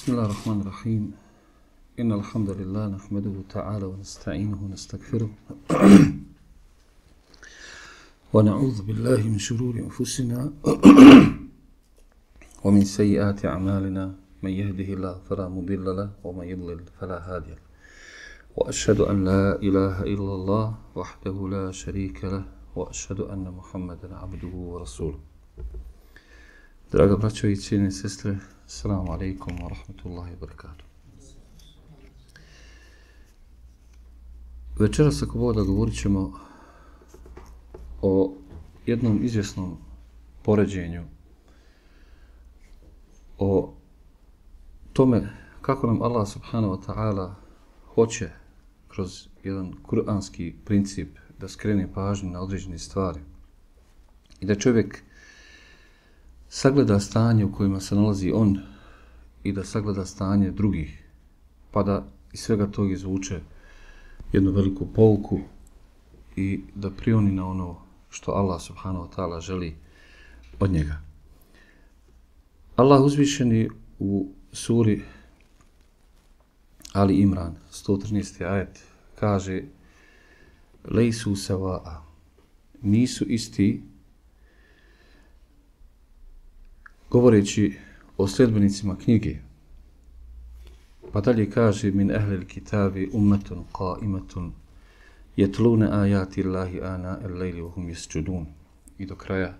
بسم الله الرحمن الرحيم إن الحمد لله نحمده تعالى ونستعينه ونستغفره ونعوذ بالله من شرور أنفسنا ومن سيئات أعمالنا من يهده الله فلا مضل له ومن يضلل فلا هادي له وأشهد أن لا إله إلا الله وحده لا شريك له وأشهد أن محمدا عبده ورسوله. Draga braćo i cijene sestre, assalamu alaikum wa rahmatullahi wa barakatuh. Večeras, ako Bog da, govorit ćemo o jednom izvjesnom poređenju, o tome kako nam Allah subhanahu wa ta'ala hoće kroz jedan kuranski princip da skrene pažnju na određene stvari i da čovjek sagleda stanje u kojima se nalazi on i da sagleda stanje drugih, pa da iz svega tog izvuče jednu veliku pouku i da prioni na ono što Allah subhanahu wa ta'ala želi od njega. Allah uzvišeni u suri Ali Imran, 113. ajet, kaže: Lejsu sawa'a, nisu isti, govoreći o sljedbenicima knjige. Pa dalje kaže: min ahlil kitabi ummetun qa'imatun yatluna ayati Allahi ana al-layli wa hum yasjudun. I do kraja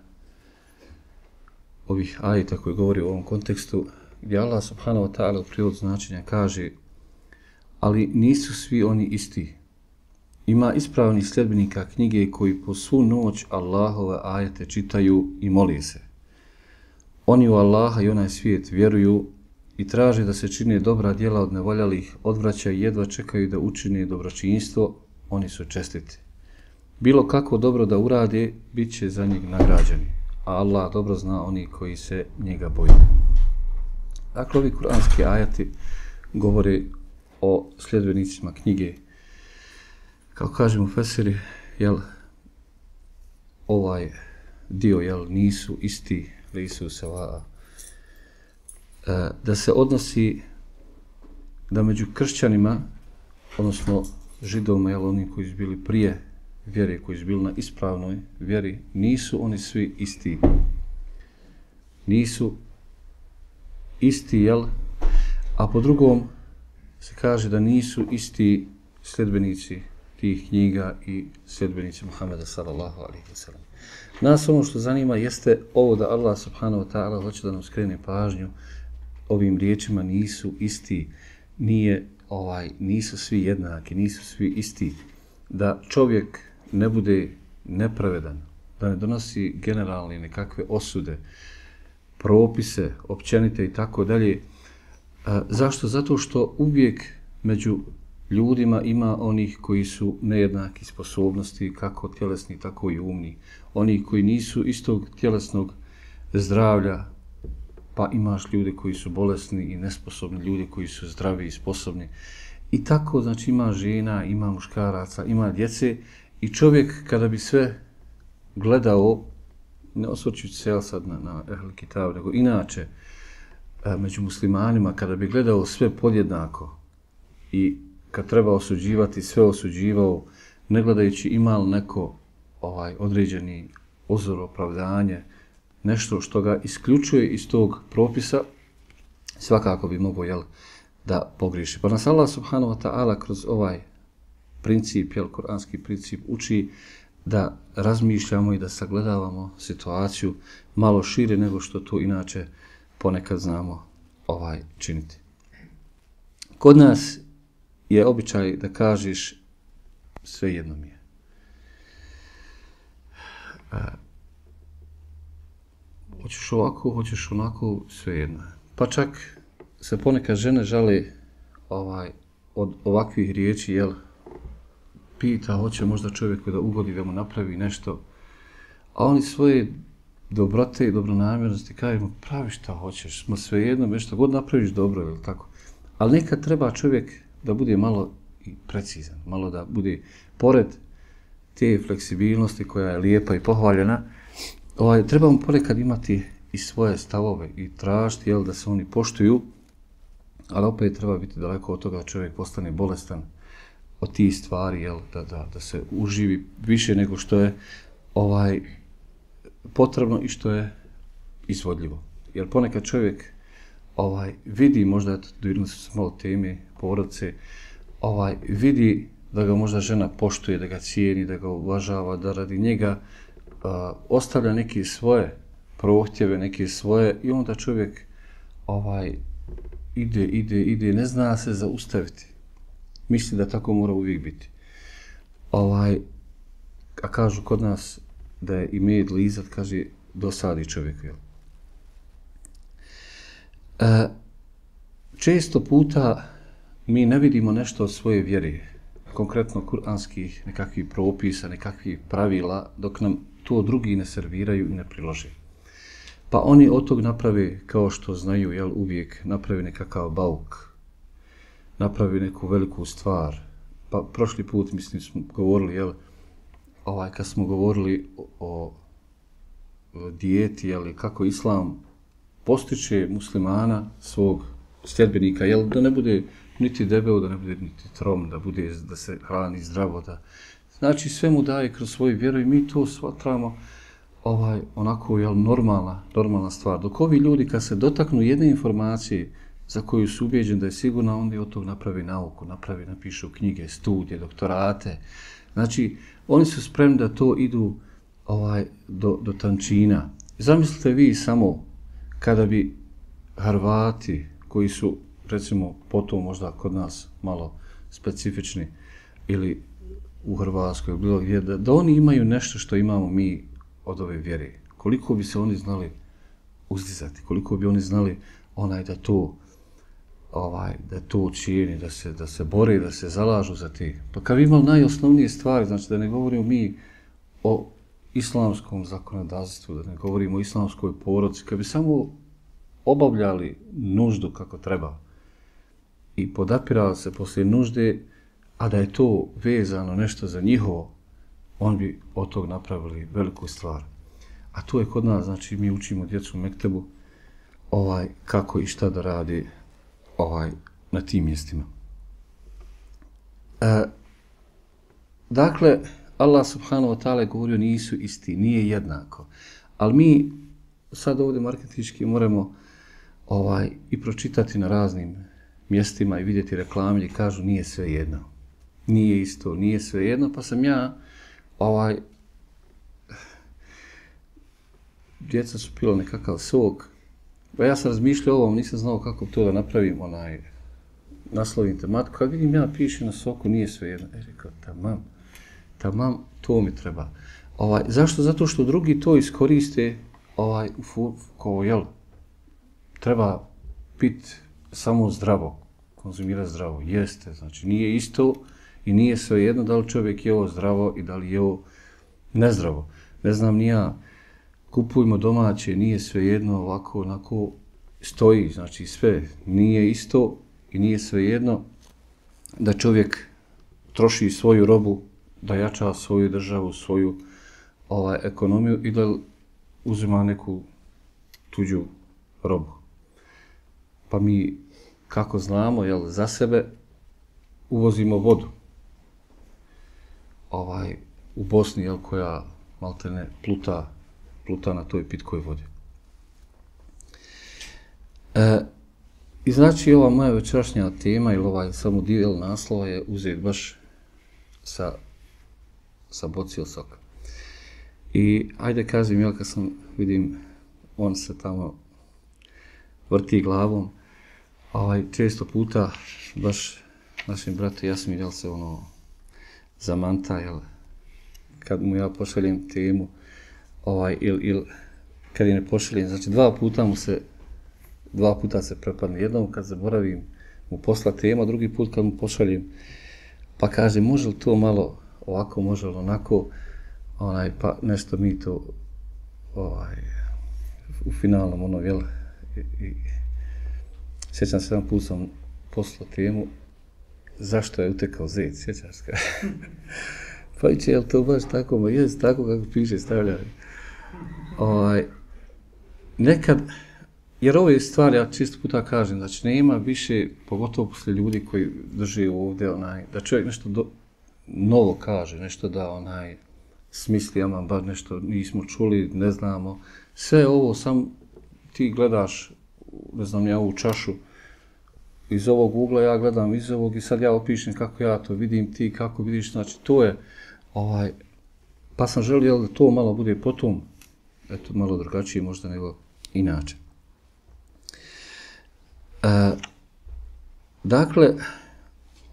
ovih ajeta koji govori o ovom kontekstu, gdje Allah subhanahu wa ta'ala u prijevodu značenja kaže: ali nisu svi oni isti. Ima ispravnih sljedbenika knjige koji po svu noć Allahove ajete čitaju i moli se. Oni u Allaha i onaj svijet vjeruju i traže da se čine dobra djela od nevoljalih, odvraćaju i jedva čekaju da učine dobročinstvo, oni su čestiti. Bilo kako dobro da urade, bit će za njih nagrađeni, a Allah dobro zna oni koji se njega boje. Dakle, ovi kuranski ajati govore o sljedbenicima knjige. Kao kažemo fesiri, ovaj dio, nisu isti, lejsu sawa'a, da se odnosi da među kršćanima, odnosno židovima, oni koji su bili prije vjere, koji su bili na ispravnoj vjeri, nisu oni svi isti. Nisu isti, a po drugom se kaže da nisu isti sljedbenici tih knjiga i sljedbenici Muhameda sallallahu alejhi ve sellem. Nas ono što zanima jeste ovo da Allah subhanahu wa ta'ala hoće da nam skrene pažnju ovim riječima nisu isti, nisu svi jednaki, nisu svi isti, da čovjek ne bude nepravedan, da ne donosi generalne nekakve osude, propise, općenite i tako dalje. Zašto? Zato što uvijek među ljudima ima onih koji su nejednaki sposobnosti, kako tjelesni, tako i umni. Oni koji nisu istog tjelesnog zdravlja, pa imaš ljude koji su bolesni i nesposobni, ljude koji su zdravi i sposobni. I tako, znači, ima žena, ima muškaraca, ima djece i čovjek kada bi sve gledao, ne osvrćući se sad na Ehl Kitab, nego inače među muslimanima, kada bi gledao sve podjednako i kad treba osuđivati, sve osuđivao, ne gledajući ima li neko određeni uzor, opravdanje, nešto što ga isključuje iz tog propisa, svakako bi mogao da pogriješi. Pa nas Allah subhanahu wa ta'ala kroz ovaj princip, kuranski princip, uči da razmišljamo i da sagledavamo situaciju malo šire nego što to inače ponekad znamo činiti. Kod nas je običaj da kažeš sve jedno mi je. Hoćeš ovako, hoćeš onako, sve jedno. Pa čak se ponekad žene žale od ovakvih riječi, pita, hoće možda čovjeku da ugodi, da mu napravi nešto, a oni svoje dobrote i dobronamjernosti kažemo, pravi šta hoćeš, sve jedno, nešto god napraviš dobro, ili tako. Ali nekad treba čovjek da bude malo i precizan, malo da bude pored te fleksibilnosti koja je lijepa i pohvaljena, trebamo ponekad imati i svoje stavove i tražiti da se oni poštuju, ali opet treba biti daleko od toga da čovjek postane bolestan od tih stvari, jel, da se uživi više nego što je potrebno i što je izvodljivo. Jer ponekad čovjek vidi, možda dodirno se malo teme porodice, vidi da ga možda žena poštuje, da ga cijeni, da ga uvažava, da radi njega ostavlja neke svoje prohtjeve, neke svoje, i onda čovjek ide, ne zna se zaustaviti. Misli da tako mora uvijek biti. A kažu kod nas da je i med lizat, kaže, dosadi čovjeku. Često puta mi ne vidimo nešto od svoje vjere, konkretno kuranskih nekakvih propisa, nekakvih pravila, dok nam to drugi ne serviraju i ne prilože. Pa oni od tog naprave, kao što znaju, jel, uvijek naprave nekakav bauk, napravi neku veliku stvar. Pa prošli put, mislim, smo govorili, jel, kad smo govorili o dijeti, jel, kako islam postiče muslimana, svog sljedbenika, jel, da ne bude niti debel, da ne bude niti trom, da se hrani zdravo, znači sve mu daje kroz svoju vjeru i mi to shvatramo onako, jel, normalna stvar. Dok ovi ljudi kad se dotaknu jedne informacije za koju su ubijeđeni da je sigurna, onda od tog napravi nauku, napišu knjige, studije, doktorate. Znači, oni su spremni da to idu do tančina. Zamislite vi samo kada bi Hrvati, koji su, recimo, potom možda kod nas malo specifični, ili u Hrvatskoj, bilo gdje, da oni imaju nešto što imamo mi od ove vjere. Koliko bi se oni znali uzdizati, koliko bi oni znali da to učini, da se bore, da se zalažu za te. Pa kad bi imali najosnovnije stvari, znači da ne govorimo mi o islamskom zakonodavstvu, da ne govorimo o islamskoj porodici, kad bi samo obavljali nuždu kako treba i podapirali se poslije nužde, a da je to vezano nešto za njihovo, on bi od tog napravili veliku stvar. A to je kod nas, znači mi učimo djecu u mektebu kako i šta da radi na tim mjestima. Dakle, Allah subhanahu wa ta'ala je govorio nisu isti, nije jednako. Ali mi sad ovdje marketinški moramo i pročitati na raznim mjestima i vidjeti reklame i kažu nije sve jedno. Nije isto, nije sve jedno, pa sam ja djeca su pila nekakav sok. Pa ja sam razmišljao o ovom, nisam znao kako to da napravim, naslovim tematiku. Kad vidim ja piše na soku, nije sve jedno. Rekao, tamam, to mi treba. Zašto? Zato što drugi to iskoriste, kao, jel, treba piti samo zdravo, konzumirati zdravo. Jeste, znači nije isto i nije sve jedno da li čovjek je ovo zdravo i da li je ovo nezdravo. Ne znam ni ja, kupujmo domaće, nije sve jedno, ovako, onako stoji, znači sve nije isto i nije sve jedno da čovjek troši svoju robu, da jača svoju državu, svoju ekonomiju i da uzima neku tuđu robu. Pa mi, kako znamo, jel, za sebe uvozimo vodu. U Bosni, jel, koja maltene pluta na toj pitkoj vodi. I znači ova moja večerašnja tema ili samo dio naslova je uzet baš sa bocijel soka. I ajde kažem, jel, kad sam vidim, on se tamo vrti glavom, često puta baš našim bratu Jasmin, jel, se zamanta, jel, kad mu ja pošaljem temu, ili kad je ne pošaljem, znači dva puta se prepadne. Jednom kad zaboravim mu posla tema, drugi put kad mu pošaljem, pa kaže, može li to malo ovako, može li onako, pa nešto mi to u finalnom, jel, i sjećam se, jedan put sam poslao temu, zašto je utekao zec, sjećaš se? Pa iće, jel to baš tako? Ma jest tako kako piše, stavljaju. Nekad Jer ove stvari, ja čisto puta kažem, znači nema više, pogotovo posle ljudi koji drže ovdje, da čovjek nešto novo kaže, nešto da smisli, ama bar nešto nismo čuli, ne znamo. Sve ovo sam ti gledaš, ne znam ja, ovu čašu, iz ovog ugla ja gledam iz ovog i sad ja opišem kako ja to vidim, ti kako vidiš, znači to je, pa sam želio da to malo bude potom, eto malo drugačije možda nego inače. Dakle,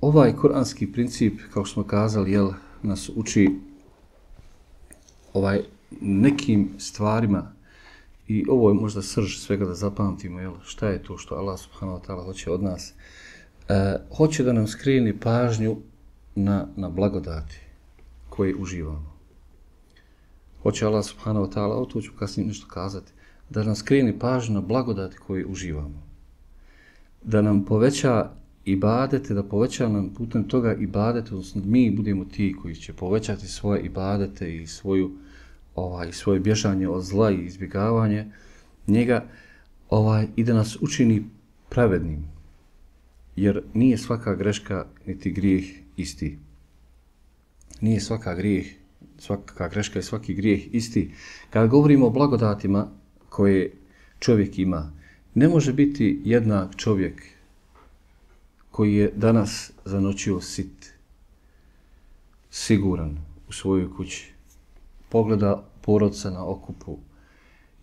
ovaj kuranski princip, kao što smo kazali, nas uči nekim stvarima i ovo je možda srž svega da zapamtimo, šta je to što Allah subhanahu wa ta'ala hoće od nas. Hoće da nam skreni pažnju na blagodati koje uživamo. Hoće Allah subhanahu wa ta'ala, o to ću kasnije nešto kazati, da nam skreni pažnju na blagodati koje uživamo. Da nam poveća ibadete, da poveća nam putem toga ibadete, odnosno mi budemo ti koji će povećati svoje ibadete i svoje bježanje od zla i izbjegavanje njega, i da nas učini pravednim. Jer nije svaka greška niti grijeh isti. Nije svaka greška i svaki grijeh isti. Kada govorimo o blagodatima koje čovjek ima, ne može biti jednak čovjek koji je danas zanoćio sit, siguran u svojoj kući, pogleda porodca na okupu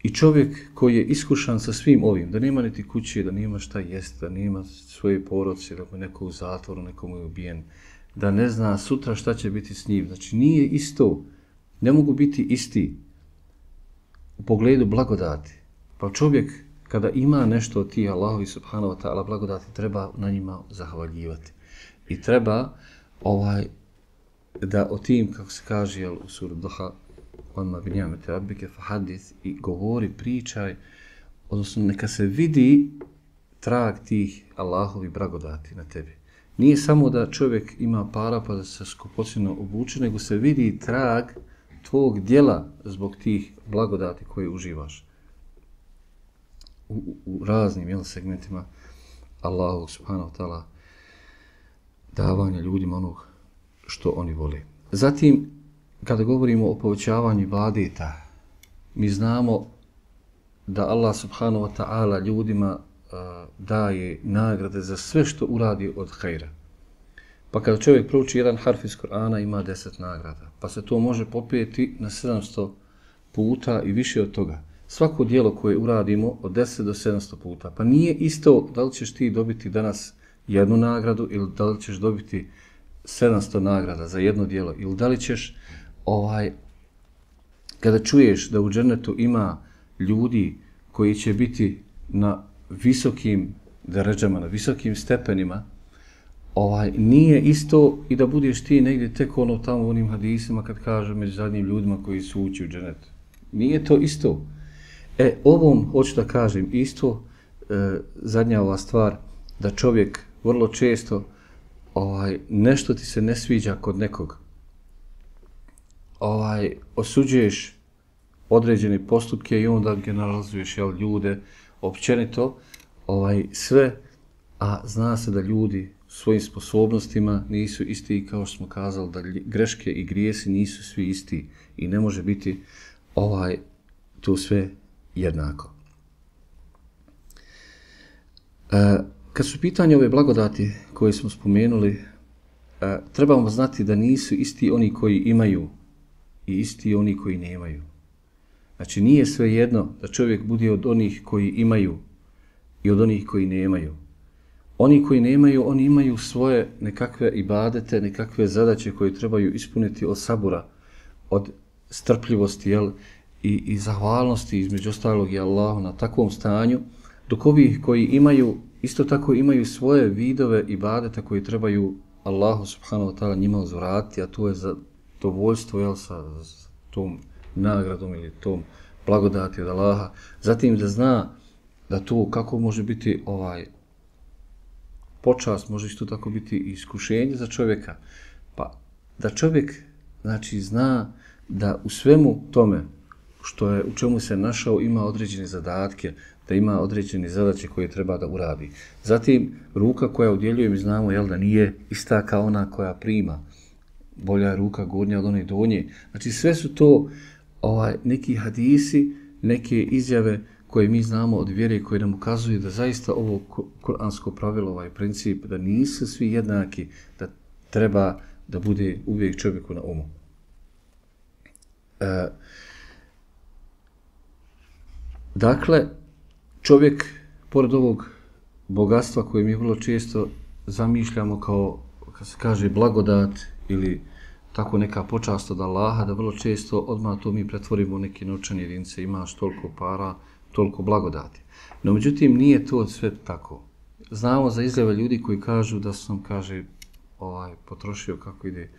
i čovjek koji je iskušan sa svim ovim, da nema niti kuće, da nema šta jest, da nema svoje porodce, da mu je neko u zatvoru, neko mu je ubijen, da ne zna sutra šta će biti s njim. Znači nije isto, ne mogu biti isti u pogledu blagodati. Pa čovjek kada ima nešto od tih Allahovi subhanahu wa ta'ala blagodati, treba na njima zahvaljivati. I treba da o tim, kako se kaže u suri Duha, onma bi ni'mati rabbike fahadith, i govori, pričaj, odnosno neka se vidi trag tih Allahovi blagodati na tebi. Nije samo da čovjek ima para pa da se skupocjeno obuče, nego se vidi trag tvog djela zbog tih blagodati koje uživaš. U raznim segmentima Allahu subhanahu wa ta'ala davanja ljudima onog što oni vole. Zatim, kada govorimo o povećavanju ibadeta, mi znamo da Allah subhanahu wa ta'ala ljudima daje nagrade za sve što uradi od hajra. Pa kada čovjek prouči jedan harf iz Kur'ana, ima 10 nagrada. Pa se to može popeti na 700 puta i više od toga. Svako djelo koje uradimo od 10 do 700 puta. Pa nije isto da li ćeš ti dobiti danas jednu nagradu ili da li ćeš dobiti 700 nagrada za jedno djelo. Ili da li ćeš, kada čuješ da u džennetu ima ljudi koji će biti na visokim deređama, na visokim stepenima, nije isto i da budeš ti negdje tek tamo u onim hadisima kad kažu među zadnjim ljudima koji su ući u džennet. Nije to isto. Ovom hoću da kažem isto, zadnja ova stvar, da čovjek vrlo često nešto ti se ne sviđa kod nekog. Osuđuješ određene postupke i onda generalizuješ ljude općenito, sve, a zna se da ljudi svojim sposobnostima nisu isti, kao što smo kazali, da greške i grijesi nisu svi isti i ne može biti to sve jednako. Kad su pitanje ove blagodati koje smo spomenuli, trebamo znati da nisu isti oni koji imaju i isti oni koji nemaju. Znači nije sve jedno da čovjek bude od onih koji imaju i od onih koji nemaju. Oni koji nemaju, oni imaju svoje nekakve ibadete, nekakve zadaće koje trebaju ispuniti od sabura, od strpljivosti, i zahvalnosti, između ostalog i Allahu na takvom stanju, dok ovi koji imaju, isto tako imaju svoje vidove ibadeta koji trebaju Allahu subhanahu wa ta'ala njima uzvratiti, a to je zadovoljstvo sa tom nagradom ili tom blagodati od Allaha. Zatim da zna da to kako može biti počast, može isto tako biti iskušenje za čovjeka. Pa da čovjek znači zna da u svemu tome u čemu se našao ima određene zadatke, da ima određene zadaće koje treba da uradi. Zatim, ruka koja udjeljuje, mi znamo da nije ista kao ona koja prima. Bolja je ruka gornja od one donje. Znači sve su to neki hadisi, neke izjave koje mi znamo od vjere, koje nam ukazuju da zaista ovo kuransko pravilo, ovaj princip, da nisu svi jednaki, da treba da bude uvijek čovjeku na umu. Dakle, čovjek, pored ovog bogatstva koje mi vrlo često zamišljamo kao, kad se kaže, blagodat ili tako neka počast od Allaha, da vrlo često odmah to mi pretvorimo u neke novčane jedinice, imaš toliko para, toliko blagodati. No, međutim, nije to sve tako. Znamo za izjave ljudi koji kažu da sam, potrošio kako ide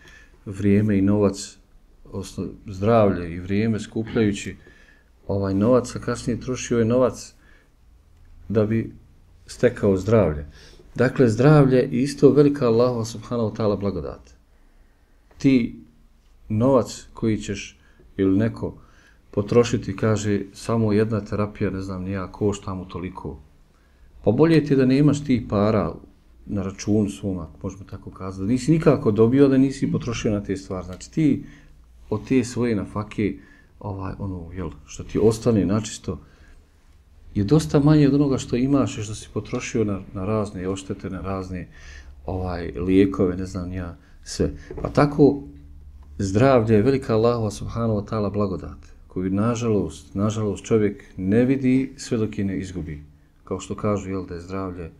vrijeme i novac, odnosno zdravlje i vrijeme skupljajući novac, a kasnije trošio je novac da bi stekao zdravlje. Dakle, zdravlje je isto velika Allahova subhanahu wa ta'ala blagodat. Ti novac koji ćeš ili neko potrošiti, kaže, samo jedna terapija, ne znam nija, košta mu toliko. Pa bolje ti da nemaš tih para na računu svoma, možemo tako kazati, da nisi nikako dobio, da nisi potrošio na te stvari. Znači ti od te svoje nafake, što ti ostane načisto, je dosta manje od onoga što imaš i što si potrošio na razne oštete, na razne lijekove, ne znam nija, sve. Pa tako zdravlje je velika Allahova subhanahu wa ta'ala blagodat, koju nažalost čovjek ne vidi sve dok je ne izgubi. Kao što kažu, da je zdravlje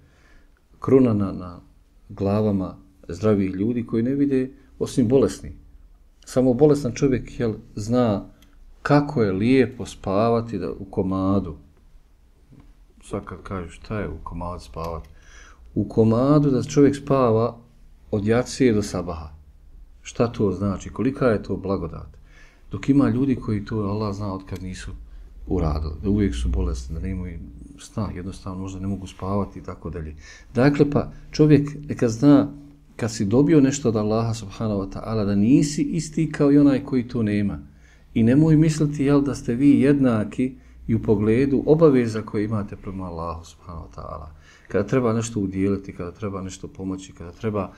kruna na glavama zdravih ljudi koji ne vide osim bolesni. Samo bolestan čovjek zna kako je lijepo spavati u komadu. Sad kad kažu šta je u komadu spavati? U komadu da čovjek spava od jacije do sabaha. Šta to znači? Kolika je to blagodat? Dok ima ljudi koji to Allah zna od kad nisu uradili, da uvijek su bolesni, da nemaju sna, jednostavno možda ne mogu spavati i tako dalje. Dakle, pa čovjek neka zna kad si dobio nešto od Allaha subhanahu wa ta'ala da nisi isti kao i onaj koji to nema. I nemoj misliti da ste vi jednaki i u pogledu obaveza koje imate prema Allahu subhanahu wa ta'ala. Kada treba nešto udjeliti, kada treba nešto pomoći, kada treba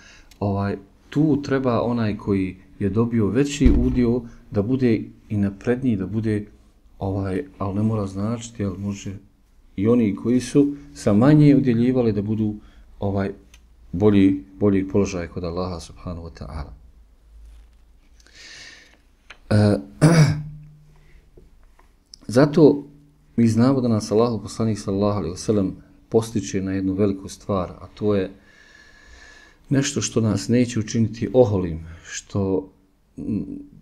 tu treba onaj koji je dobio veći udio da bude i napredniji, da bude ali ne mora značiti, ali može i oni koji su sa manje udjeljivali da budu bolji položaj kod Allaha subhanahu wa ta'ala. Zato mi znamo da nas Allahov poslanik sallallahu alejhi ve sellem postiče na jednu veliku stvar, a to je nešto što nas neće učiniti oholim, što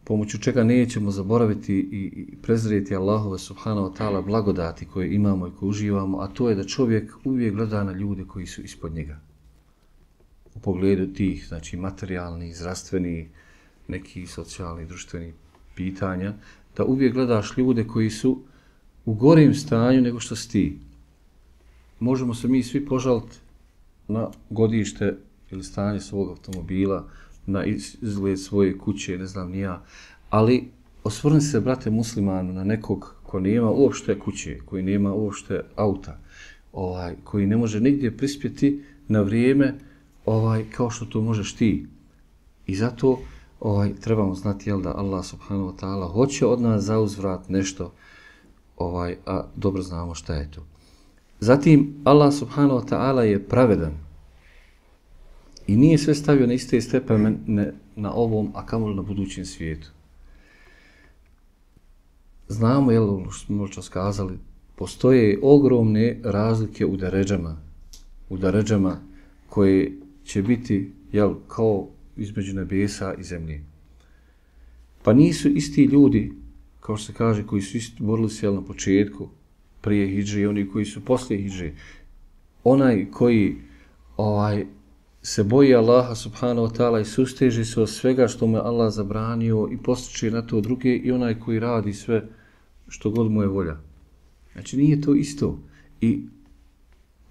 pomoću čega nećemo zaboraviti i prezreti Allahove subhanahu wa ta'ala blagodati koje imamo i koje uživamo, a to je da čovjek uvijek gleda na ljude koji su ispod njega. U pogledu tih, znači materijalnih, zdravstvenih, nekih socijalnih, društvenih pitanja, da uvijek gledaš ljude koji su u gorijem stanju nego što si ti. Možemo se mi svi požaliti na godište ili stanje svog automobila, na izgled svoje kuće, ne znam ni ja, ali osvrni se, brate muslimanu, na nekog ko nema uopšte kuće, koji nema uopšte auta, koji ne može nigdje prispjeti na vrijeme kao što to možeš ti. I zato trebamo znati da Allah subhanahu wa ta'ala hoće od nas zauzvrat nešto, a dobro znamo šta je to. Zatim Allah subhanahu wa ta'ala je pravedan i nije sve stavio na iste stepene na ovom, a kamoli na budućem svijetu. Znamo, što smo možda skazali, postoje ogromne razlike u deređama koje će biti kao između nebesa i zemlje. Pa nisu isti ljudi, kao što se kaže, koji su borili se na početku, prije hidže i oni koji su poslije hidže. Onaj koji se boji Allaha subhanahu wa ta'ala i susteže se od svega što mu je Allah zabranio i postiče na to druge, i onaj koji radi sve što god mu je volja. Znači nije to isto. I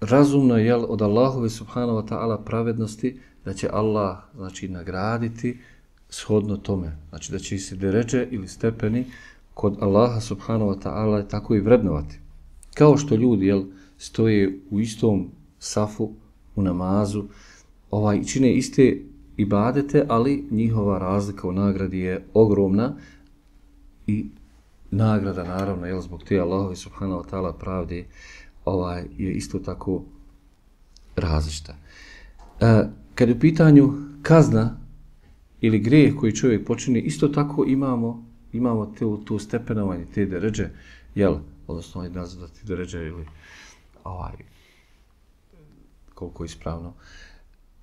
razumno je od Allahove subhanahu wa ta'ala pravednosti da će Allah nagraditi shodno tome. Znači da će se deređe ili stepeni kod Allaha subhanahu wa ta'ala tako i vrednovati. Kao što ljudi stoje u istom safu, u namazu, čine iste ibadete, ali njihova razlika u nagradi je ogromna i nagrada naravno zbog te Allahove subhanahu wa ta'ala pravde je isto tako različita. Kad je u pitanju kazna ili grijeh koji čovjek počini, isto tako imamo tu stepenovanje, te deređe, odnosno nazvati deređe ili koliko je ispravno,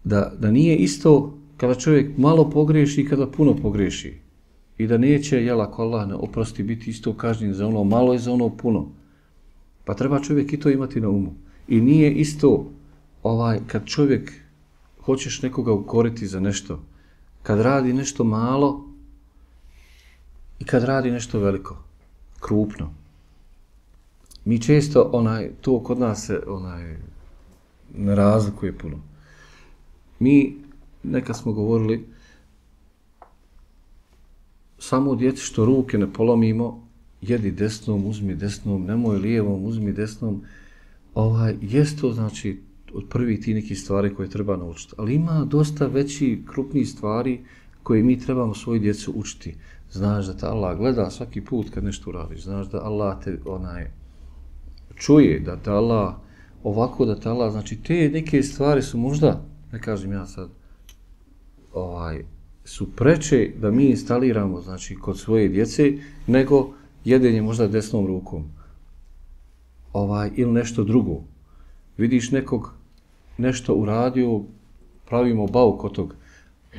da nije isto kada čovjek malo pogriješi i kada puno pogriješi. I da neće, ako Allah ne oprosti, biti isto kažnjen za ono malo i za ono puno. Pa treba čovjek i to imati na umu. I nije isto kad čovjek hoćeš nekoga ukoriti za nešto, kad radi nešto malo i kad radi nešto veliko, krupno. Mi često to kod nas se ne razlikuje puno. Mi nekad smo govorili samo djeci što ruke ne polomimo, jedi desnom, uzmi desnom, nemoj lijevom, uzmi desnom. Jest to znači od prvih ti nekih stvari koje treba naučiti. Ali ima dosta veći, krupnijih stvari koje mi trebamo svoju djecu učiti. Znaš da te Allah gleda svaki put kad nešto uradiš. Znaš da Allah te čuje, da te Allah ovako, da te Allah, znači te neke stvari su možda, ne kažem ja sad, su preče da mi instaliramo, znači, kod svoje djece, nego jedenje možda desnom rukom. Ili nešto drugo. Vidiš nekog nešto uradio, pravimo bauk od tog,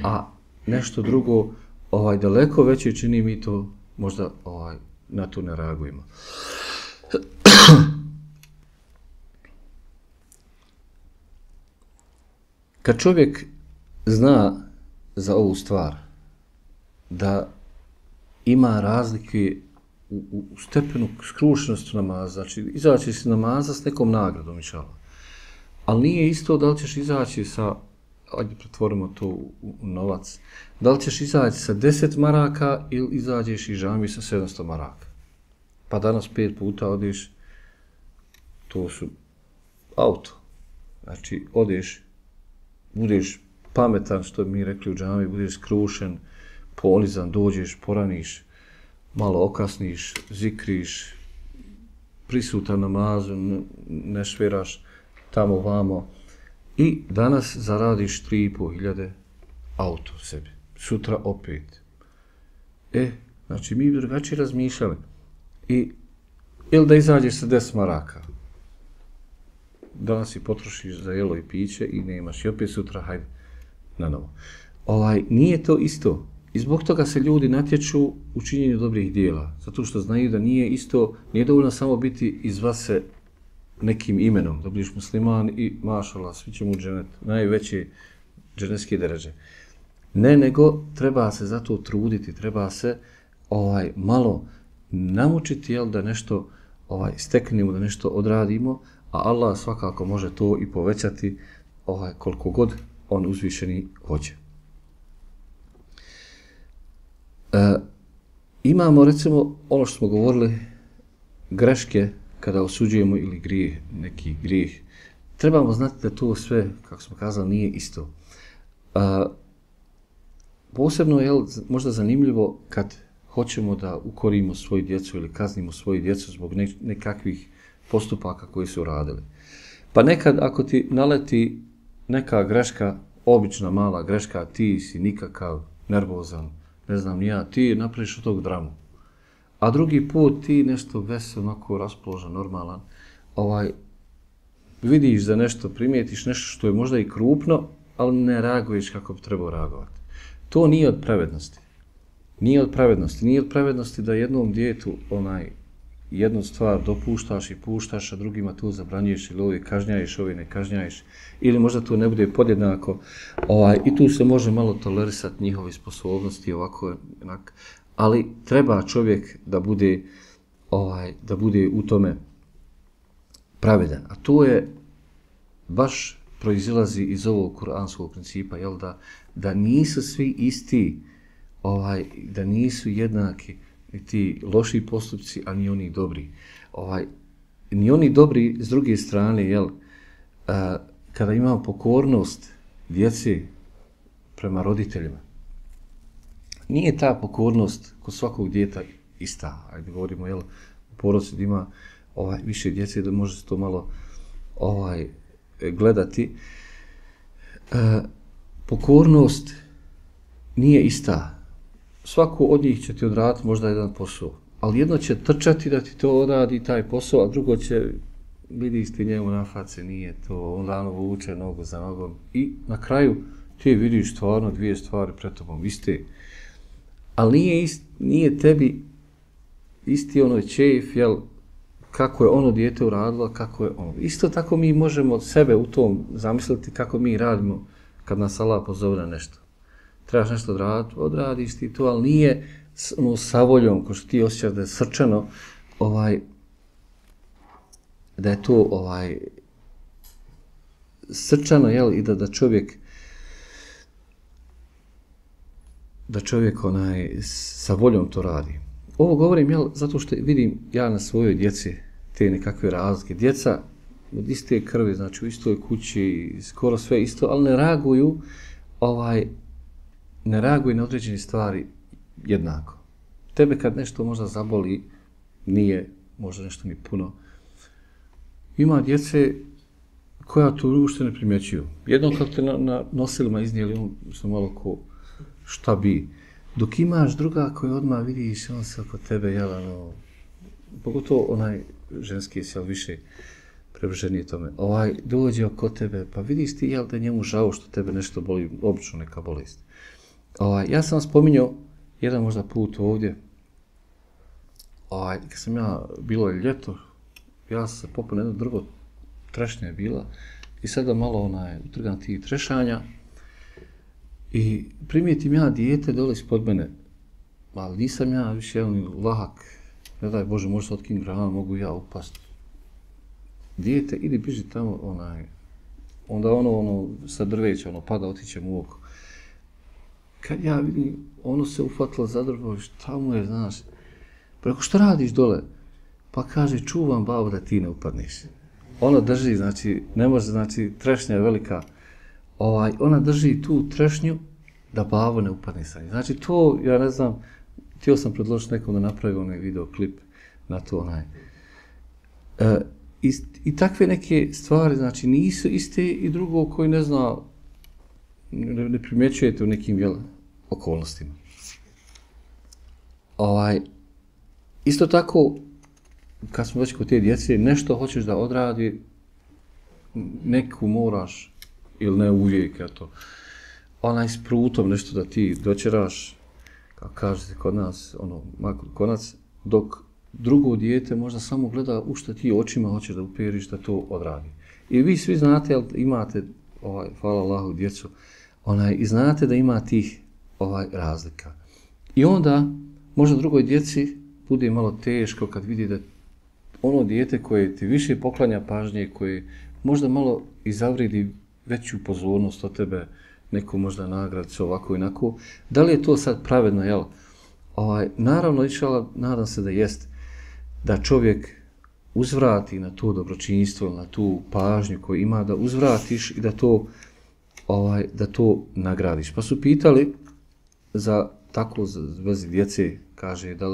a nešto drugo, daleko veće čini, mi to možda na to ne reagujemo. Kad čovjek zna za ovu stvar da ima razlike u stepenu skrušenosti namaza, znači izaći se namaza s nekom nagradom, inšallah. Ali nije isto da li ćeš izaći sa, ajde pretvorimo to u novac, da li ćeš izaći sa 10 maraka ili izađeš iz džamije sa 700 maraka. Pa danas 5 puta odeš, to su auto. Znači odeš, budeš pametan, što bi mi rekli u džamiji, budeš skrušen, ponizan, dođeš, poraniš, malo okasniš, zikriš, prisutan namazu, ne šveraš tamo vamo i danas zaradiš 3.500 auto sebi. Sutra opet. Znači mi bi drugačije razmišljali. Ili da izađeš sa 10 maraka. Danas i potrošiš za jelo i piće i nemaš. I opet sutra, hajde, na novo. Nije to isto. I zbog toga se ljudi natječu u činjenju dobrih dijela. Zato što znaju da nije isto, nije dovoljno samo biti iz vas se nekim imenom. Da budeš musliman i mašallah, svi ćemo u dženet, najveće dženetske deređe. Ne, nego treba se zato truditi, treba se malo namučiti, da nešto steknemo, da nešto odradimo, a Allah svakako može to i povećati koliko god on uzvišeni hoće. Imamo recimo ono što smo govorili, greške kada osuđujemo ili grijeh, neki grijeh. Trebamo znati da to sve, kako smo kazali, nije isto. Posebno je možda zanimljivo kad hoćemo da ukorimo svoju djecu ili kaznimo svoju djecu zbog nekakvih postupaka koji su radili. Pa nekad ako ti naleti neka greška, obična mala greška, ti si nikakav nervozan, ne znam ni ja, ti napraviš od tog dramu. A drugi put ti nešto vesel, onako raspoložen, normalan, vidiš za nešto, primijetiš nešto što je možda i krupno, ali ne reaguješ kako bi trebao reagovati. To nije od pravednosti. Nije od pravednosti da jednom djetu jednu stvar dopuštaš i puštaš, a drugima tu zabranjuješ ili ovi kažnjaješ, ovi ne kažnjaješ, ili možda tu ne bude podjednako. I tu se može malo tolerisati njihove sposobnosti, ovako, onak. Ali treba čovjek da bude u tome pravedan. A to je baš proizilazi iz ovog kuranskog principa, da nisu svi isti, da nisu jednaki. ni ti loši postupci, a ni oni dobri. Ni oni dobri s druge strane, jel, kada imamo pokornost djece prema roditeljima, nije ta pokornost kod svakog djeta ista. Ajde govorimo, jel, u porodici da ima više djece, da može se to malo gledati. Pokornost nije ista. Svako od njih će ti odraditi možda jedan posao, ali jedno će trčati da ti to odradi taj posao, a drugo će vidiš ti njemu na face, nije to, onda ono vuče nogu za nogom i na kraju ti vidiš stvarno dvije stvari pred tobom iste, ali nije tebi isti onoj čef, jel, kako je ono dijete uradilo, kako je ono. Isto tako mi možemo od sebe u tom zamisliti kako mi radimo kad nas Allah pozove na nešto. Trebaš nešto odraditi, odradiš ti to, ali nije sa voljom, ko što ti osjećaš da je srčano, da je to srčano, jel, i da čovjek sa voljom to radi. Ovo govorim, jel, zato što vidim ja na svojoj djeci te nekakve razlike. Djeca od iste krvi, znači u istoj kući, skoro sve isto, ali ne reaguju na određene stvari jednako. Tebe kad nešto možda zaboli, nije možda nešto ni puno. Ima djece koja to uopšte ne primjećuju. Jednom kad te na nosilima iznijeli, on su malo ko šta bi. Dok imaš druga koja odmah vidiš, on se oko tebe, jel, pogotovo onaj ženski se više prevrženije tome. Dođe oko tebe, pa vidiš ti, jel, da je njemu žao što tebe nešto boli, obično neka bolest. Ja sam spominjao jedan možda put ovdje, kad sam bilo je ljeto, ja sam se popao na jedno drvo, trešnja je bila, i sada malo utrgam tih trešanja, i primijetim ja dijete dole ispod mene, ali nisam ja više jedan lahak, ne daj Bože, može se otkinuti grana, mogu ja upast. Dijete, idi biži tamo, onda ono sa drveća, pada, otiće mu oko. Kad ja vidim, ono se ufatilo za drvo, šta mu je, znaš, preko što radiš dole? Pa kaže, čuvam babu da ti ne upadneš. Ona drži, znači, ne može, znači, trešnja je velika, ona drži tu trešnju da babo ne upadne sa njim. Znači, to, ja ne znam, htio sam predložiti nekom da napravi onaj videoklip na to, I takve neke stvari, znači, nisu iste i drugo koji ne zna, ne primjećujete u nekim okolnostima. Isto tako, kad smo već kod te djece, nešto hoćeš da odradi, neku moraš, ili ne uvijek, eto, s prutom nešto da ti dočeraš, kako kažete kod nas, makar konac, dok drugo dijete možda samo gleda u što ti očima hoćeš da uperiš da to odradi. I vi svi znate, jel, imate, hvala Allahu, djecu, i znate da ima tih razlika. I onda, možda drugoj djeci bude malo teško kad vidi da ono dijete koje ti više poklanja pažnje, koje možda malo i zavridi veću pozornost od tebe, neku možda nagradu, ovako i onako. Da li je to sad pravedno, jel? Naravno, nadam se da jest, da čovjek uzvrati na to dobročinstvo, na tu pažnju koju ima, da uzvratiš i da to nagradiš. Pa su pitali za tako vezi djece, kaže, da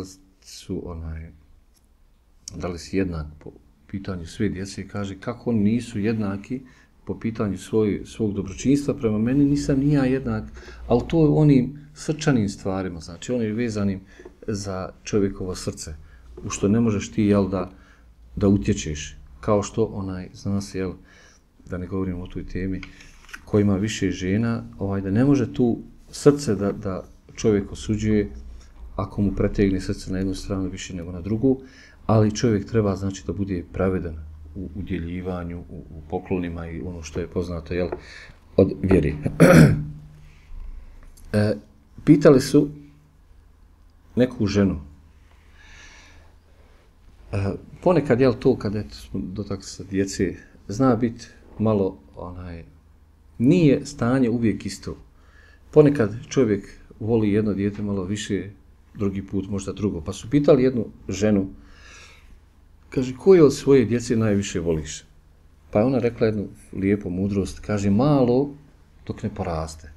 li si jednak po pitanju sve djece, kaže, kako oni nisu jednaki po pitanju svog dobročinstva, prema meni nisam ni ja jednak, ali to je onim srčanim stvarima, znači onim vezanim za čovjekovo srce, u što ne možeš ti, jel, da utječeš, kao što zna se, jel, da ne govorimo o toj temi, ko ima više žena, da ne može tu srce da čovjek osuđuje ako mu pretegne srce na jednu stranu više nego na drugu, ali čovjek treba, znači, da bude pravedan u udjeljivanju, u poklonima i ono što je poznato, jel, od vjeri. Pitali su neku ženu. Ponekad, jel, to kada smo dotakli sa djece, zna biti malo, nije stanje uvijek isto. Ponekad čovjek voli jedno dijete malo više drugi put možda drugo. Pa su pitali jednu ženu, kaže, koje od svoje djece najviše voliš? Pa je ona rekla jednu lijepu mudrost, kaže, malo dok ne poraste.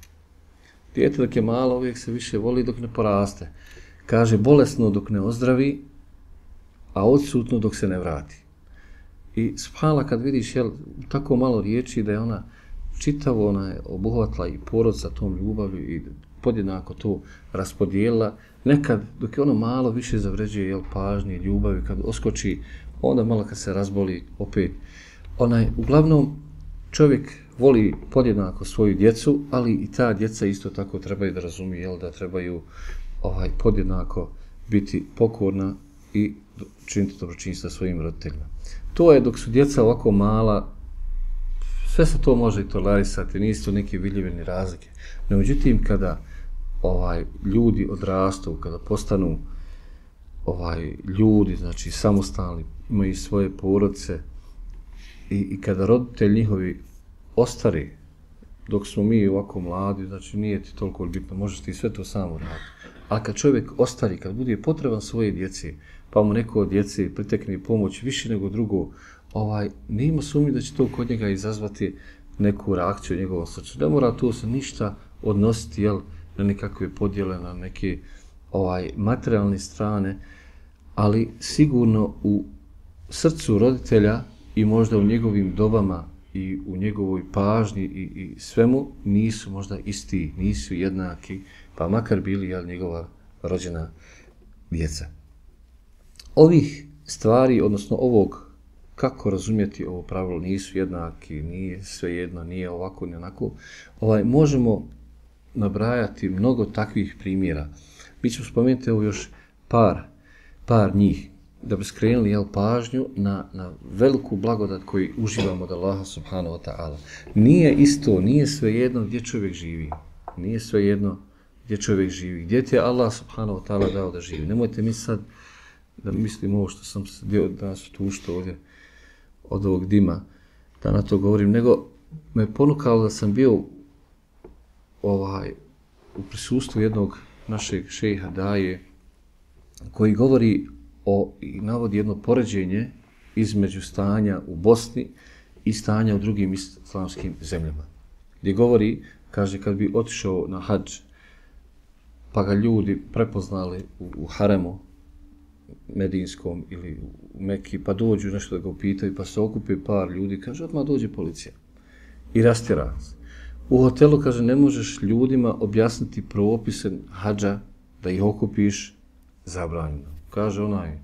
Dijete dok je malo uvijek se više voli dok ne poraste. Kaže, bolesno dok ne ozdravi, a odsutno dok se ne vrati. I subhanallah, kad vidiš tako malo riječi da je ona čitavo ona je obuhvatila i porod sa tom ljubavlju i podjednako to raspodijelila. Nekad, dok je ono malo više zavređuje pažnje, ljubavi, kad oskoči, onda malo kad se razboli opet. Uglavnom, čovjek voli podjednako svoju djecu, ali i ta djeca isto tako trebaju da razumiju, da trebaju podjednako biti pokorna i činiti dobročinstvo svojim roditeljima. To je dok su djeca ovako mala, sve se to može i tolerisati, nisu to neke vidljive razlike. No, međutim, kada ljudi odrastu, kada postanu ljudi, znači samostalni, imaju svoje porodice i kada roditelji njihovi ostari, dok smo mi ovako mladi, znači nije ti toliko bitno, možeš ti sve to samo raditi. Ali kad čovjek ostari, kad bude potreban svoje djeci, pa mu neko od djece pritekne pomoć više nego drugo, nema sumnje da će to kod njega izazvati neku reakciju u njegovom srcu. Ne mora to se ništa odnositi na nekakve podjele, na neke materijalne strane, ali sigurno u srcu roditelja i možda u njegovim dobama i u njegovoj pažnji i svemu nisu možda isti, nisu jednaki, pa makar bili njegova rođena djeca. Ovih stvari, odnosno ovog kako razumjeti ovo pravilo, nisu jednaki, nije svejedno, nije ovako ni onako, možemo nabrajati mnogo takvih primjera. Mi ćemo spomenuti još par njih, da bi skrenuli pažnju na veliku blagodat koju uživamo od Allaha subhanahu wa ta'ala. Nije isto, nije svejedno gdje čovjek živi. Nije svejedno gdje čovjek živi. Gdje ti je Allah subhanahu wa ta'ala dao da živi. Nemojte mi sad da mislim ovo što sam se danas tuštao ovdje od ovog dima, da na to govorim, nego me ponukalo da sam bio u prisustvu jednog našeg šejha daje koji govori i navodi jedno poređenje između stanja u Bosni i stanja u drugim islamskim zemljama. Gdje govori, kaže, kad bi otišao na hadž, pa ga ljudi prepoznali u haremu medinskom ili u Mekki, pa dođu nešto da ga upitaju, pa se okupi par ljudi, kaže, odmah dođe policija i rastjera se. U hotelu, kaže, ne možeš ljudima objasniti propise hadža, da ih okupiš, zabranjeno. Kaže onaj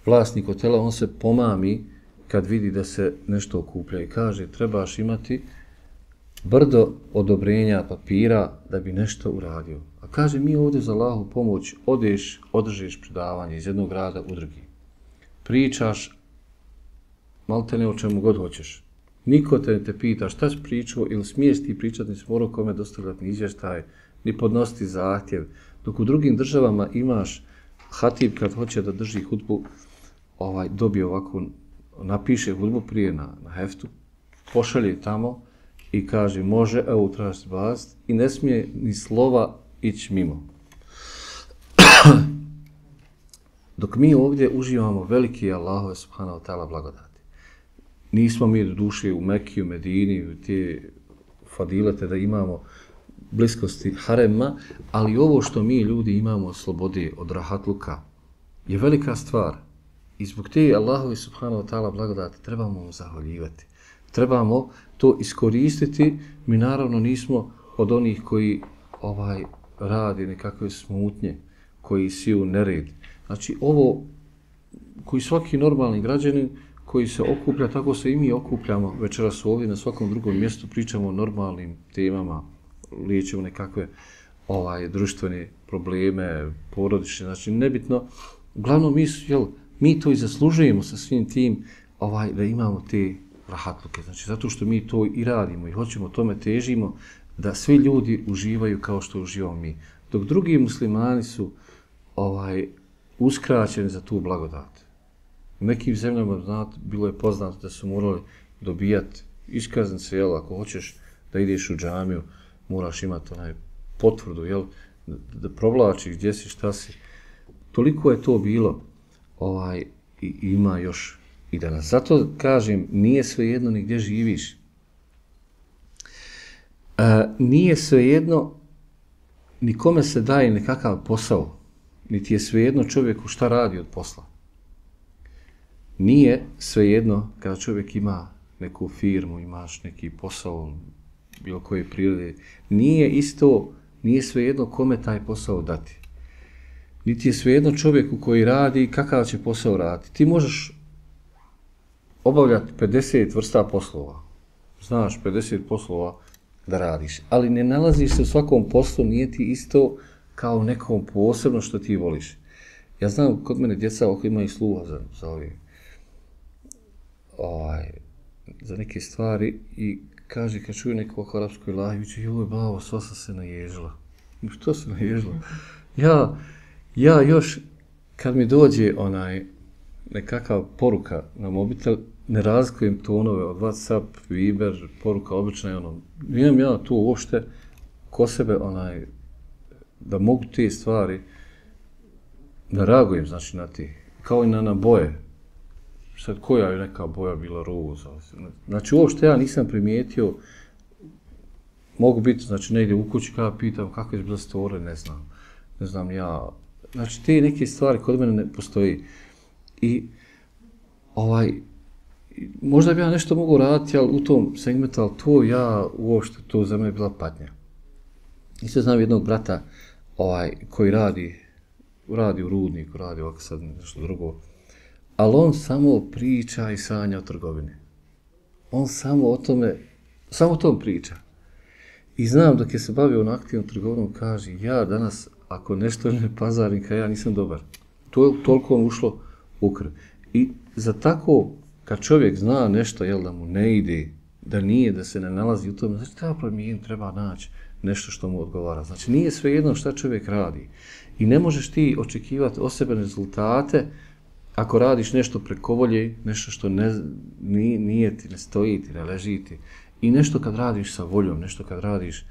vlasnik hotela, on se pomami kad vidi da se nešto okuplja i kaže, trebaš imati brdo odobrenja papira da bi nešto uradio. A kaže, mi ovdje za Allahu pomoć održiš predavanje iz jednog grada u drugi. Pričaš maltene o čemu god hoćeš. Niko te pita šta si pričao ili smiješ ti pričati, nisi morao kome dostavljati ni izvještaj, ni podnositi zahtjev. Dok u drugim državama imaš hatib kad hoće da drži hudbu, dobije ovako, napiše hudbu prije na heftu, pošalje tamo i kaže može, evo traži bast i ne smije ni slova ići mimo. Dok mi ovdje uživamo veliki Allahove subhanahu wa ta'ala blagodati. Nismo mi do duše u Mekiju, Medini, u te fadilete da imamo bliskosti harema, ali ovo što mi ljudi imamo od slobode, od rahatluka, je velika stvar. I zbog te Allahove subhanahu wa ta'ala blagodati trebamo mu zahvaljivati. Trebamo to iskoristiti. Mi naravno nismo od onih koji radi nekakve smutnje, koji siju nered. Znači ovo, koji svaki normalni građanin koji se okuplja, tako se i mi okupljamo večeras ovdje na svakom drugom mjestu, pričamo o normalnim temama, liječimo nekakve društvene probleme, porodične, znači nebitno. Uglavnom mi to i zaslužujemo sa svim tim da imamo te rahatluke, znači zato što mi to i radimo i hoćemo tome težimo da svi ljudi uživaju kao što uživamo mi. Dok drugi muslimani su uskraćeni za tu blagodat. U nekim zemljama, znate, bilo je poznato da su morali dobijati iskaznice, ako hoćeš da ideš u džamiju, moraš imati potvrdu, da provlačiš gdje si, šta si. Toliko je to bilo i ima još i danas. Zato kažem, nije svejedno ni gdje živiš. Nije svejedno ni kome se daje nekakav posao, niti je svejedno čovjeku šta radi od posla. Nije svejedno kada čovjek ima neku firmu, imaš neki posao, bilo koje prirode, nije svejedno kome taj posao dati. Niti je svejedno čovjeku koji radi kakav će posao raditi. Ti možeš obavljati 50 vrsta poslova. Znaš 50 poslova da radiš, ali ne nalaziš se u svakom poslu, nije ti isto kao nekom posebno što ti voliš. Ja znam kod mene djeca ako imaju sluha za neke stvari i kaže kad čuju neku oko arapskoj lahi, joj babo, sva sam se naježila. Što se naježila? Ja još kad mi dođe nekakav poruka na mobitel, ne razlikujem tonove od WhatsApp, Viber, poruka obična, imam ja tu uopšte ko sebe da mogu te stvari da reagujem, znači na ti, kao i na boje. Sad koja je neka boja bila roza. Znači uopšte ja nisam primijetio, mogu biti znači negdje u kući kada pitam kako je bila stvore, ne znam ja. Znači te neke stvari kod mene ne postoji. I možda bi ja nešto mogu raditi, ali u tom segmentu, ali to ja uopšte, to za mene bila patnja. Isto znam jednog brata koji radi u rudniku, radi ovako sad nešto drugo, ali on samo priča i sanja o trgovini. On samo o tom priča. I znam dok je se bavio na aktivnom trgovinom, kaže, ja danas, ako nešto ne pazarim, ja nisam dobar. Toliko on ušlo u krv. I za tako, kad čovjek zna nešto, da mu ne ide, da se ne nalazi u tome, znači treba naći nešto što mu odgovara. Znači nije svejedno šta čovjek radi. I ne možeš ti očekivati od sebe rezultate ako radiš nešto preko volje, nešto što nije ti, ne stoji ti, ne leži ti. I nešto kad radiš sa voljom, nešto kad radiš,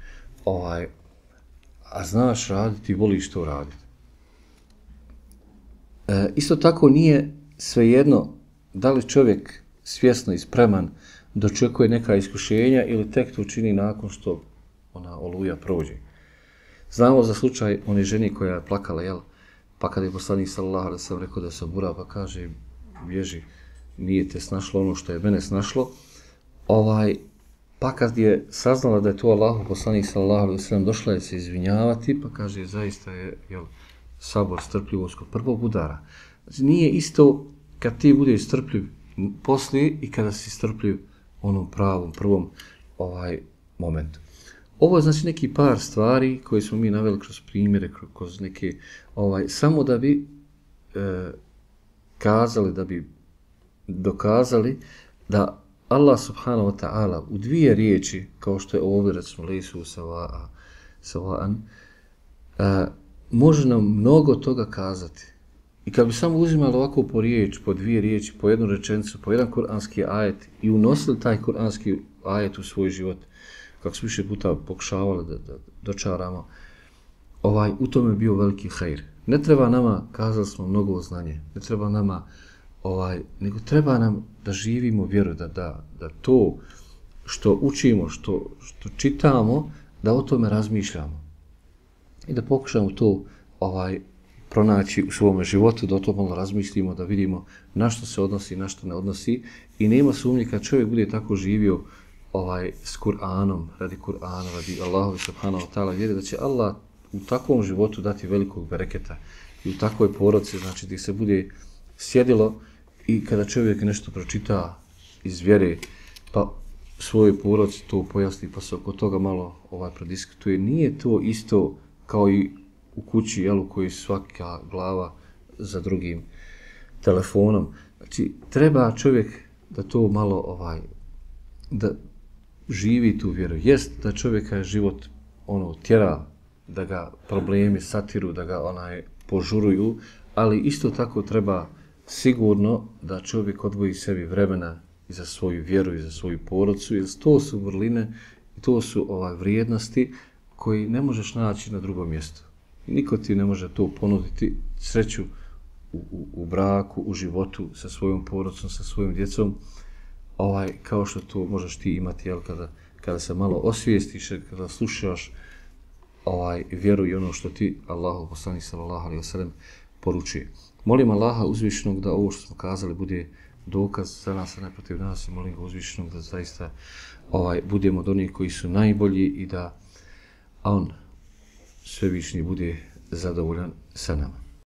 a znaš raditi, voliš to raditi. Isto tako nije svejedno da li čovjek svjesno i spreman dočekuje neka iskušenja ili tek to čini nakon što ona oluja prođe. Znamo za slučaj one žene koja je plakala, pa kada je poslanik sallallahu alejhi ve sellem rekao da se obura, pa kaže, bježi, nije te snašlo ono što je mene snašlo. Pa kad je saznala da je to Allahov poslanik sallallahu alejhi ve sellem, došla je se izvinjavati, pa kaže, zaista je sabor, strpljivost kod prvog udara. Znači nije isto kad ti budeš strpljiv poslije i kada si strpljiv onom pravom, prvom momentu. Ovo je znači neki par stvari koje smo mi naveli kroz primjere, kroz neke, samo da bi kazali, da bi dokazali da Allah subhanahu wa ta'ala u dvije riječi, kao što je ovdje recimo lejsu sava'an, može nam mnogo toga kazati. I kad bi samo uzimali ovako po riječ, po dvije riječi, po jednu rečenicu, po jedan kuranski ajet i unosili taj kuranski ajet u svoj život, kako smo više puta pokušavali da dočaramo, u tome je bio veliki hajr. Ne treba nama, kazali smo, mnogo znanje, ne treba nama, nego treba nam da živimo vjeru, da to što učimo, što čitamo, da o tome razmišljamo. I da pokušamo to pronaći u svome životu, da o tome malo razmislimo, da vidimo na što se odnosi, na što ne odnosi. I nema sumnje kad čovjek bude tako živio s Kur'anom, radi Kur'ana, radi Allahu subhanahu wa ta'ala, vjeri da će Allah u takvom životu dati velikog bereketa i u takvoj porodici, znači gdje se bude sjedilo i kada čovjek nešto pročita iz vjere, pa svojoj porodici to pojasni, pa se oko toga malo prodiskutuje. Nije to isto kao i u kući, u kojoj svaka glava za drugim telefonom. Znači, treba čovjek da to malo, da živi tu vjeru. Jest da čovjeka život tjera, da ga problemi satiru, da ga požuruju, ali isto tako treba sigurno da čovjek odvoji sebi vremena i za svoju vjeru i za svoju porodicu, jer to su vrline i to su vrijednosti koji ne možeš naći na drugom mjestu. Niko ti ne može to ponuditi, sreću u braku, u životu, sa svojom porodicom, sa svojom djecom, kao što to možeš ti imati, jel, kada se malo osvijestiš, kada slušaš vjeru i ono što ti Allahu poslanik sallallahu alejhi ve sellem poručuje. Molim Allaha uzvišenog da ovo što smo kazali bude dokaz za nas, a ne protiv nas, i molim ga uzvišenog da zaista budemo od onih koji su najbolji i da on svevišnji bude zadovoljan sa nama.